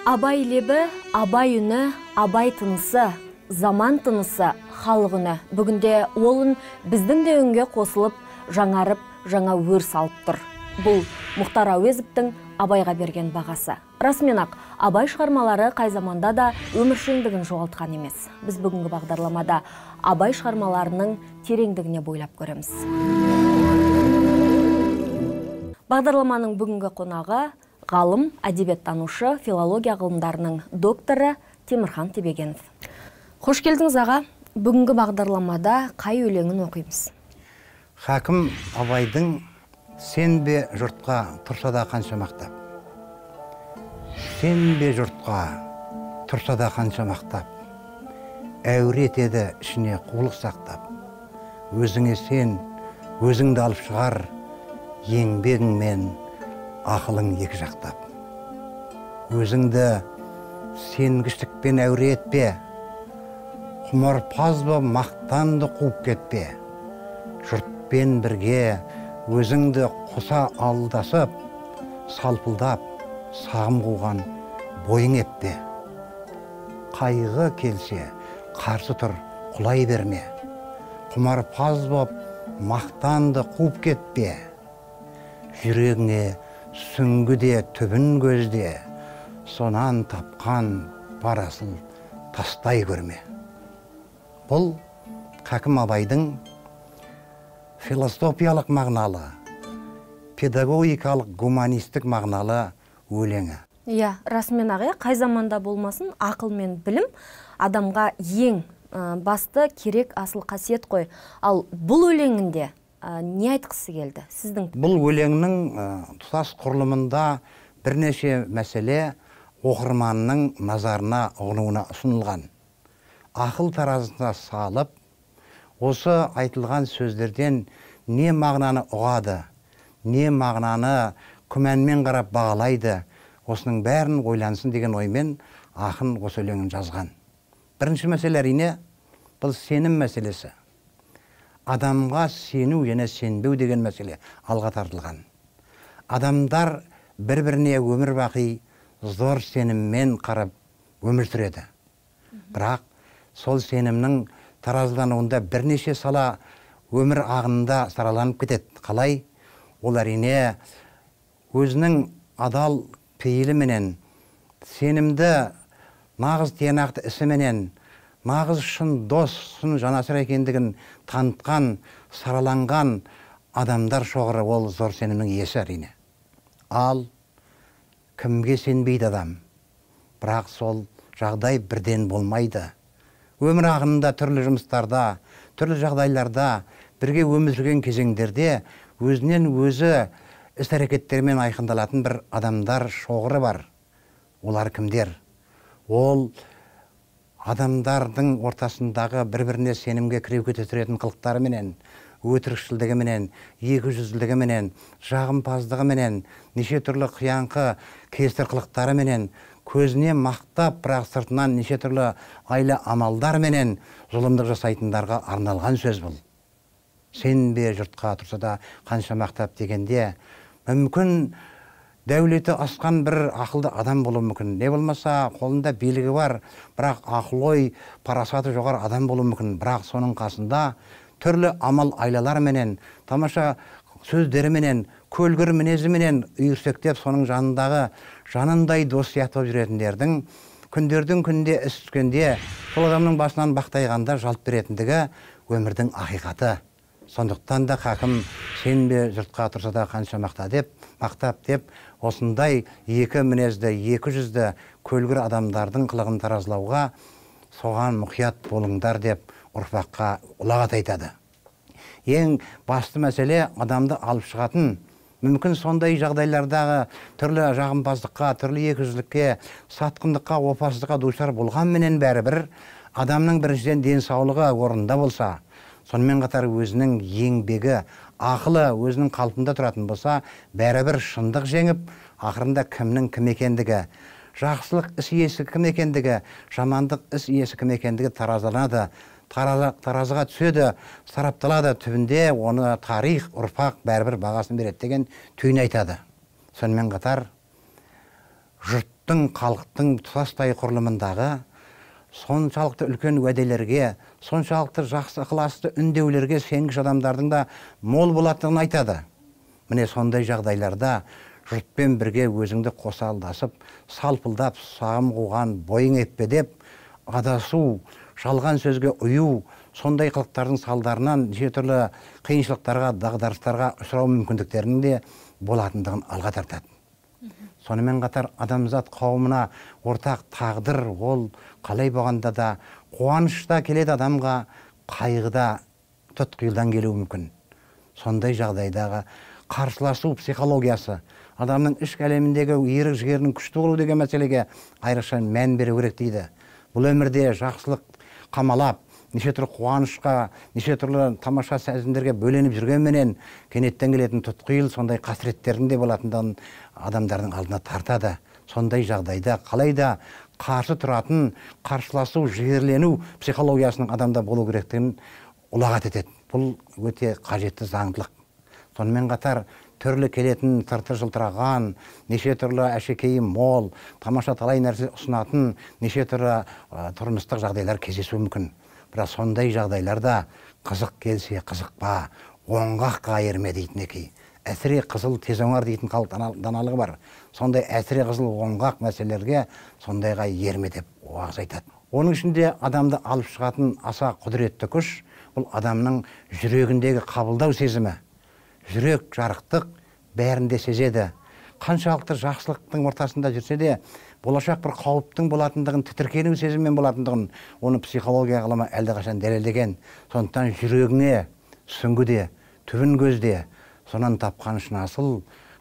Абай лебі, абай үні, абай тынысы, заман тынысы, халық үні. Бүгінде олын біздің де үнге қосылып, жаңарып, жаңа өр салып тұр. Бұл Мұхтар Әуезовтің абайға берген бағасы. Расымен-ақ, абай шығармалары қай заманда да өміршеңдігін жоғалтқан емес. Біз бүгінгі бағдарламада абай шығармаларының тереңдігіне бойлап көреміз. Бағдарламаның бүгінгі қонағы ғалым, әдебиеттанушы, филология ғылымдарының докторы Темірхан Тебегенов. Қош келдіңіз аға. Бүгінгі бағдарламада қай өлеңін оқимыз? Хакім Абайдың «Сен бе жұртқа тұрса да қанша мақтап». Сен бе жұртқа тұрса да қанша мақтап, әуре етеді ішіне қулық сақтап. Өзіңе сен, өзіңді алып шығар, еңбегіңмен ақылың екі жақтап. Өзіңді сенгіштікпен әуре етпе, құмарпаз боп мақтанды қуып кетпе. Жұртпен бірге өзіңді қоса алдасып, салпылдап, сағым қуған бойың еппе. Қайғы келсе, қарсы тұр, құлай берме. Құмарпаз боп мақтанды қуып кетпе. Жүрегіңе сүңгіде түбін көзде, сонан тапқан парасын тастай көрме. Бұл Хакім Абайдың философиялық мағыналы, педагогикалық, гуманистік мағыналы өлеңі. Иә, расымен ағы, қай заманда болмасын, ақыл мен білім адамға ең басты керек асыл қасиет қой. Ал бұл өлеңінде не айтқысы келді сіздің? Бұл өлеңнің тұтас құрылымында бірнеше мәселе оқырманның назарына, ұғынуына ұсынылған. Ақыл таразысына салып, осы айтылған сөздерден не мағынаны ұғады, не мағынаны күмәнмен қарап бағалайды, осының бәрін ойлансын деген оймен ақын осы өлеңін жазған. Бірінші мәселе әрине, бұл сенім мәселесі. Адамға сену және сенбеу деген мәселе алға тартылған. Адамдар бір-біріне өмір бақи зор сеніммен қарап өмір сүреді. Бірақ сол сенімнің таразылануында бірнеше сала өмір ағынында сараланып кетеді. Қалай? Ол әрине өзінің адал пейіліменен, сенімді нағыз тиянақты ісіменен, нағыз шын дос, шын жанасыр екендігін танытқан, сараланған адамдар шоғыры ол зор сенімнің иесі әрине. Ал кімге сенбейді адам? Бірақ сол жағдай бірден болмайды. Өмір ағынында, түрлі жұмыстарда, түрлі жағдайларда, бірге өмір сүрген кезеңдерде өзінен өзі іс-әрекеттермен айқындалатын бір адамдар шоғыры бар. Олар кімдер? Ол адамдардың ортасындағы бір-біріне сенімге кіреу кетіретін қылықтарыменен, өтірікшілдігіменен, екіжүзділігіменен, жағымпаздығыменен, неше түрлі қияңқы кесір қылықтарыменен, көзіне мақтап, бірақ сыртынан неше түрлі айлы амалдарменен зұлымдық жасайтындарға арналған сөз бұл. Сен бе жұртқа тұрса да қанша мақтап дегенде, мүмкін дәулеті асқан бір ақылды адам болуы мүмкін. Не болмаса, қолында билігі бар, бірақ ақыл-ой, парасаты жоғары адам болуы мүмкін. Бірақ соның қасында түрлі амал айлаларменен, тамаша сөздеріменен, көлгір мінезіменен үйірсектеп, соның жанындағы жанындай дос сияқты жүретіндердің күндердің күнде іс түскенде сол адамның басынан бақтайғанда жалт беретіндігі өмірдің ақиқаты. Сондықтан да хакім сен бе жұртқа тұрса да қанша мақтап деп, осындай екі мінезді, екі жүзді көлгір адамдардың қылығын таразылауға соған мұқият болыңдар деп ұрпаққа ұлағат айтады. Ең басты мәселе адамды алып шығатын, мүмкін сондай жағдайлардағы түрлі жағымпаздыққа, түрлі екіжүзділікке, сатқындыққа, опасыздыққа душар болғанменен бәрібір адамның біріншіден денсаулығы орнында болса, сонымен қатар өзінің еңбегі, ақылы өзінің қалпында тұратын болса, бәрібір шындық жеңіп, ақырында кімнің кім екендігі, жақсылық іс иесі кім екендігі, жамандық іс иесі кім екендігі таразыланады, таразыға түседі, сарапталады, түбінде оны тарих, ұрпақ бәрібір бағасын береді деген түйін айтады. Сонымен қатар жұрт ұлттың, халықтың тұтастай құрылымындағы соншалықты үлкен уәделерге, соншалықты жақсы ықыласты үндеулерге сенгіш адамдардың да мол болатынын айтады. Міне сондай жағдайларда жұртпен бірге өзіңді қосалдасып, салпылдап, сағым қуған, бойың еппедеп, адасу, жалған сөзге ұю, сондай қылықтардың салдарынан неше түрлі қиыншылықтарға, дағдарыстарға ұшырау мүмкіндіктерінің де болатындығын алға тартады. Сонымен қатар адамзат қауымына ортақ тағдыр, ол қалай болғанда да қуанышта келеді адамға, қайғыда тұтқиылдан келуі мүмкін. Сондай жағдайдағы қарсыласу психологиясы, адамның ішкі әлеміндегі ерік жігерінің күшті болу деген мәселеге айрықша мән беру керек дейді. Бұл өмірде жақсылық қамалап, неше түрлі қуанышқа, неше түрлі тамаша сезімдерге бөленіп жүргенменен кенеттен келетін тұтқиыл сондай қасіреттердің де болатындығын адамдардың алдына тартады. Сондай жағдайда қалайда қарсы тұратын, қарсыласу, жігерлену психологиясының адамда болу керектігін ұлағат етеді. Бұл өте қажетті заңдылық. Сонымен қатар түрлі келетін, тыртыр жылтыраған, неше түрлі әшекейі мол, тамаша талай нәрсе ұсынатын, неше түрлі тұрмыстық жағдайлар кездесуі мүмкін. Бірақ сондай жағдайларда қызық келсе қызықпа, оңғаққа ерме дейтін екен. Әсіре қызыл тез оңар дейтін халық даналығы бар. Сондай әсіре қызыл оңғақ мәселелерге сондайға ерме деп уағыз айтады. Оның ішінде адамды алып шығатын аса құдіретті күш, бұл адамның жүрегіндегі қабылдау сезімі. Жүрек жарықтық бәрінде сезеді. Қаншалықты жақсылықтың ортасында жүрсе де, болашақ бір қауіптің болатындығын, тітіркену сезіммен болатындығын, оны психология ғылымы әлдеқашан дәлелдеген. Сондықтан жүрегіңе сүңгіде, түбін көзде, сонан тапқан үшін асыл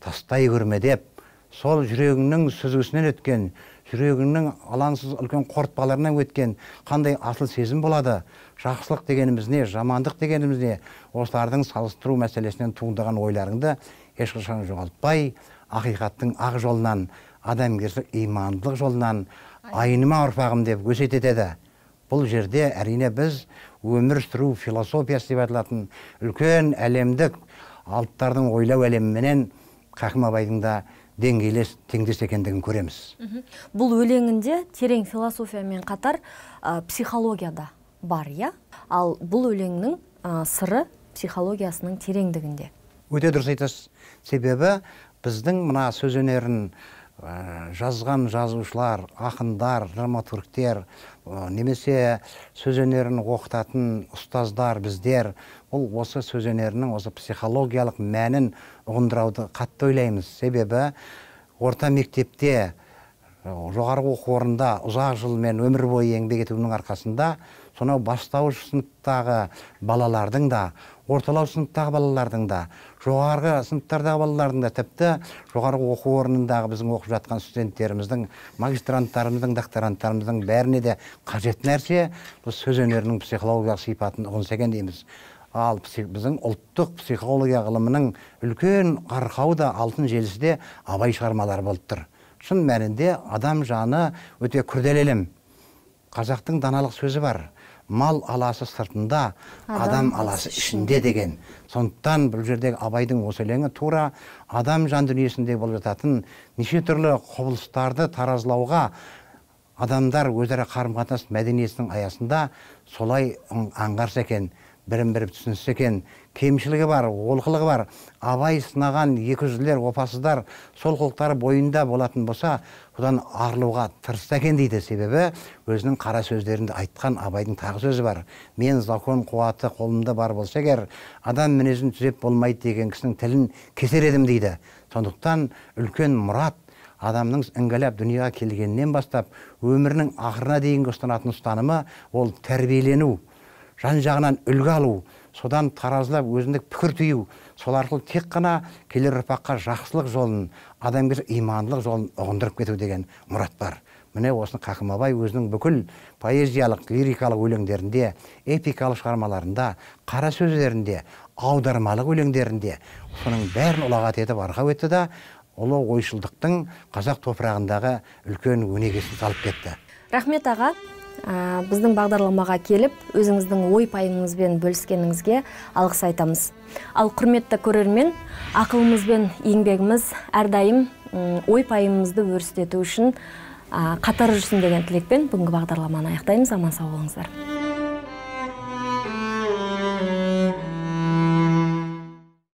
тастай көрме деп, сол жүрегіңнің сүзгісінен өткен, жүрегіңнің алаңсыз үлкен қорытпаларынан өткен қандай асыл сезім болады, жақсылық дегеніміз не, жамандық дегеніміз не, осылардың салыстыру мәселесінен туындаған ойларыңды ешқашан жоғалтпай, ақиқаттың ақ жолынан, адамгершілік имандылық жолынан айныма ұрпағым деп өсиет етеді. Бұл жерде әрине біз өмір сүру философиясы деп аталатын үлкен әлемдік алыптардың ойлау әлеміменен Хакім Абайдың да деңгейлес, теңдес екендігін көреміз. Бұл өлеңінде терең философиямен қатар психологияда бар, я? Ал бұл өлеңнің сыры психологиясының тереңдігінде. Өте дұрыс айтасыз. Себебі біздің мына сөз өнерін жазған жазушылар, ақындар, драматургтер, немесе сөз өнерін оқытатын ұстаздар, біздер, бұл осы сөз өнерінің осы психологиялық мәнін ұғындырауды қатты ойлаймыз. Себебі орта мектепте, жоғарғы оқу орнында ұзақ жылмен өмір бойы еңбек етуінің арқасында сонау бастауыш сыныптағы балалардың да, орталау сыныптағы балалардың да, жоғарғы сыныптардағы балалардың да, тіпті жоғарғы оқу орнындағы біздің оқып жатқан студенттеріміздің, магистранттарымыздың, докторанттарымыздың бәріне де қажет нәрсе бұл сөз өнерінің психологиялық сипатын ұғынса екен дейміз. Ал біздің ұлттық психология ғылымының үлкен арқауы да алтын желісі де Абай шығармалары болып тұр. Шын мәнінде адам жаны өте күрделі әлем. Қазақтың даналық сөзі бар. Мал аласы сыртында, адам аласы ішінде деген. Сондықтан бұл жердегі Абайдың осы өлеңі тура адам жан дүниесінде болып жататын неше түрлі құбылыстарды таразылауға адамдар өзара қарым-қатынас мәдениетінің аясында солай аңғарса екен, бірін-бірі түсінсе екен, кемшілігі бар, олқылығы бар. Абай сынаған екі жүзділер, опасыздар, сол қылықтары бойында болатын болса, содан арылуға тырысса екен дейді. Себебі өзінің қара сөздерінде айтқан Абайдың тағы сөзі бар. Мен закон қуаты қолымда бар болса егер, адам мінезін түзеп болмайды деген кісінің тілін кесер едім дейді. Сондықтан үлкен мұрат адамның іңгәлап дүнияға келгеннен бастап өмірінің ақырына дейінгі ұстанатын ұстанымы ол тәрбиелену, жан жағынан үлгі алу, содан таразылап өзіндік пікір түйу, сол арқылы тек қана келер ұрпаққа жақсылық жолын, адамгершілік имандылық жолын ұғындырып кету деген мұрат бар. Міне осыны Хакім Абай өзінің бүкіл поэзиялық, лирикалық өлеңдерінде, эпикалық шығармаларында, қара сөздерінде, аудармалық өлеңдерінде соның бәрін ұлағат етіп арқау етті да, ұлы ойшылдықтың қазақ топырағындағы үлкен өнегесін салып кетті. Рахмет аға. Біздің бағдарламаға келіп, өзіңіздің ой-пайыңызбен бөліскеніңізге алғыс айтамыз. Ал құрметті көрермен, ақылымыз бен еңбегіміз әрдайым ой пайымымызды өрістету үшін қатар жүрсін деген тілекпен бүгінгі бағдарламаны аяқтаймыз. Аман сау болыңыздар.